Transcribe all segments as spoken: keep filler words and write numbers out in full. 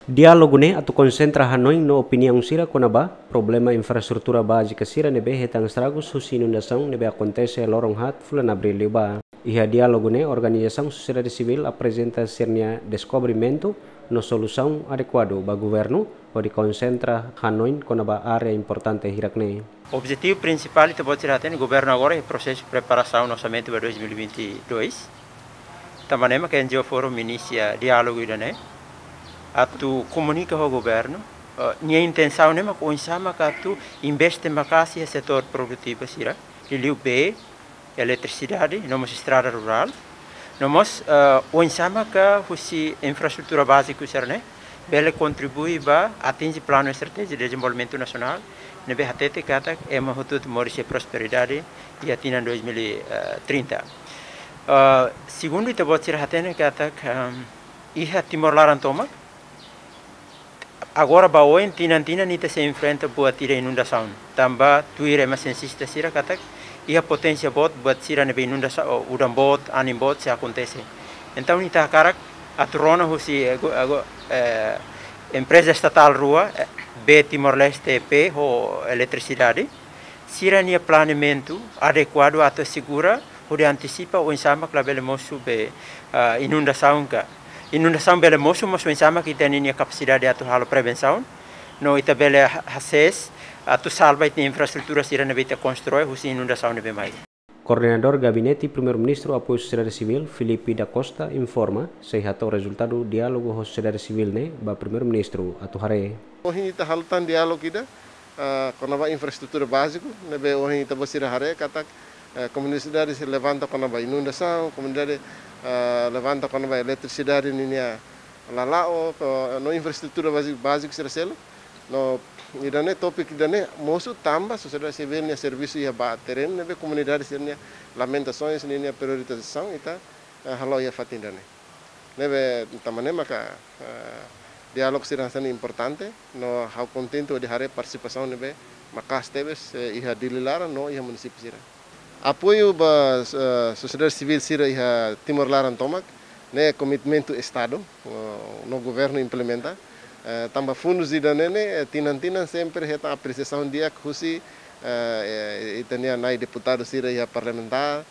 Diálogu ne'e atu konsentra hanoin no opiniaun sira kona-ba problema infraestrutura bázika sira ne'ebé hetan estragus husi inundasaun ne'ebé akontese loron haat fulan Abríl liubá. Iha diálogu ne'e organizasaun sosiedade sivíl aprezenta sira-nia deskobrimentu no solusaun adekuadu ba governu hodi konsentra hanoin kona-ba área importante hirak-ne'e. Objetivu prinsipál ita-boot sira hatene, governu agora iha prosesu preparasaun orsamentu ba dois mil e vinte e dois. Tanba ne'e mak N G O Forum inisia diálogu ida-ne'e atu komunika ho governu, eh, nia intensaun ne'e mak oinsá mak atu investe maka'as iha setór produtivu sira, liuliu bee, eletrisidade, no mós estrada rurál. No mós, eh, oinsá mak husi infraestrutura báziku sira-ne'e bele kontribui ba atinje Planu Estratéjiku de Dezenvolvimentu Nasionál ne'ebé hatete katak ema hotu-hotu moris iha prosperidade iha tinan dois mil e trinta. Eh, segundu, ita-boot sira hatene katak, ehm, iha Timor laran tomak, agora ba oin, tinan-tinan ita sei enfrenta buat ida inundasaun. Tanba tuir ema siensista sira katak iha poténsia boot buat sira ne'ebé inundasaun, udan-boot, anin-boot sei akontese. Entaun ita hakarak atu rona husi, eh, go-, eh, go-, eh, empreza estatál rua, eh, Bee Timor-Leste, E P, ho Eletrisidade, sira-nia planeamentu adekuadu atu asegura hodi antisipa oinsá mak labele mosu be, ah, inundasaun ka. Inundasaun bele mosu, mas oinsá mak ita-nia kapasidade atu halo prevensaun, no ita bele ha-, hasees atu salva ita infraestrutura sira ne'ebé ita konstrui husi inundasaun ne'ebé mai. Koordenadór Gabinete Primeiru-Ministru Apoiu Sosiedade Sivíl, Filipe da Costa, informa, sei hato'o rezultadu diálogu ho sosiedade sivíl ne'e ba Primeiru-Ministru atu haree. Ohin ita halo tan diálogu ida, ah, kona-ba infraestrutura báziku, ne'ebé ohin ita-boot sira haree katak, eh, komunidade sira levanta kona-ba inundasaun, komunidade, ah, levanta kona-ba eletrisidade ninia la la'o, ko-, no infraestrutura bázi-, báziku sira seluk. No ida-ne'e, tópiku ida-ne'e mosu tanba sosiedade sivíl nia servisu iha ba terrenu ne'ebé komunidade sira-nia lamentasaun, ninia prioritizasaun ita, eh, halo iha fatin ida-ne'e. Ne'ebé tanba ne'e maka, eh, diálogu sira hanesan ne'e importante, no ha'u kontente hodi haree partisipasaun ne'ebé maka'as tebes, eh, iha Dili laran no iha munisípiu sira. Apoiu ba, eh, sosiedade sivíl sira iha Timor laran tomak, ne'e komitmentu Estadu, eh, no governu implementa. Eh, tanba fundus ida-ne'e ne'e, eh, tinan-tinan sempre hetan apresiasaun di'ak husi, eh, eh, ita-nia na'i deputadu sira iha parlamentár,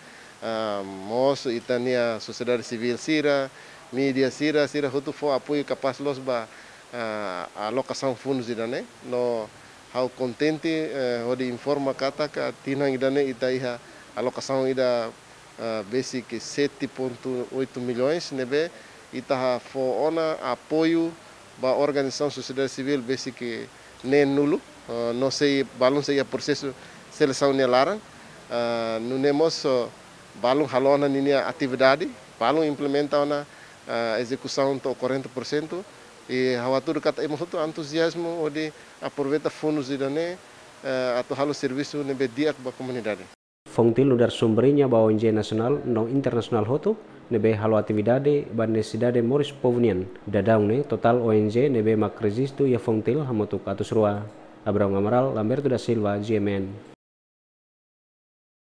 ah, mós ita-nia sosiedade sivíl sira, mídia sira, sira hotu fó apoiu kapás loos ba, ah, alokasaun fundus ida-ne'e. No ha'u kontente, eh, hodi informa katak tinan ida-ne'e ita iha alokasaun ida, ah, besik sete ponto oito milhões, ne'ebé ita fó ona apoiu ba organizasaun sosiedade sivíl besik neen-nulu, eh, no sei, balun sei iha prosesu selesaun nia laran, eh, nune'e mós, eh, balun halo ona ninia atividade, balun implementa ona, eh, ezekusaun to'o quarenta por cento, i ha'u hatudu katak ema hotu entuziazmu hodi aproveita fundus ida-ne'e, eh, atu halo servisu ne'ebé di'ak ba komunidade. Fontil nu'udar sombrinha ba O N G nasionál no internasionál hotu ne'ebé halo atividade ba nesesidade moris povu nian. Daudaun ne'e totál O N G ne'ebé mak rejistu iha Fontil hamutuk atus rua. Abraão Amaral, Lamberto da Silva, G M N.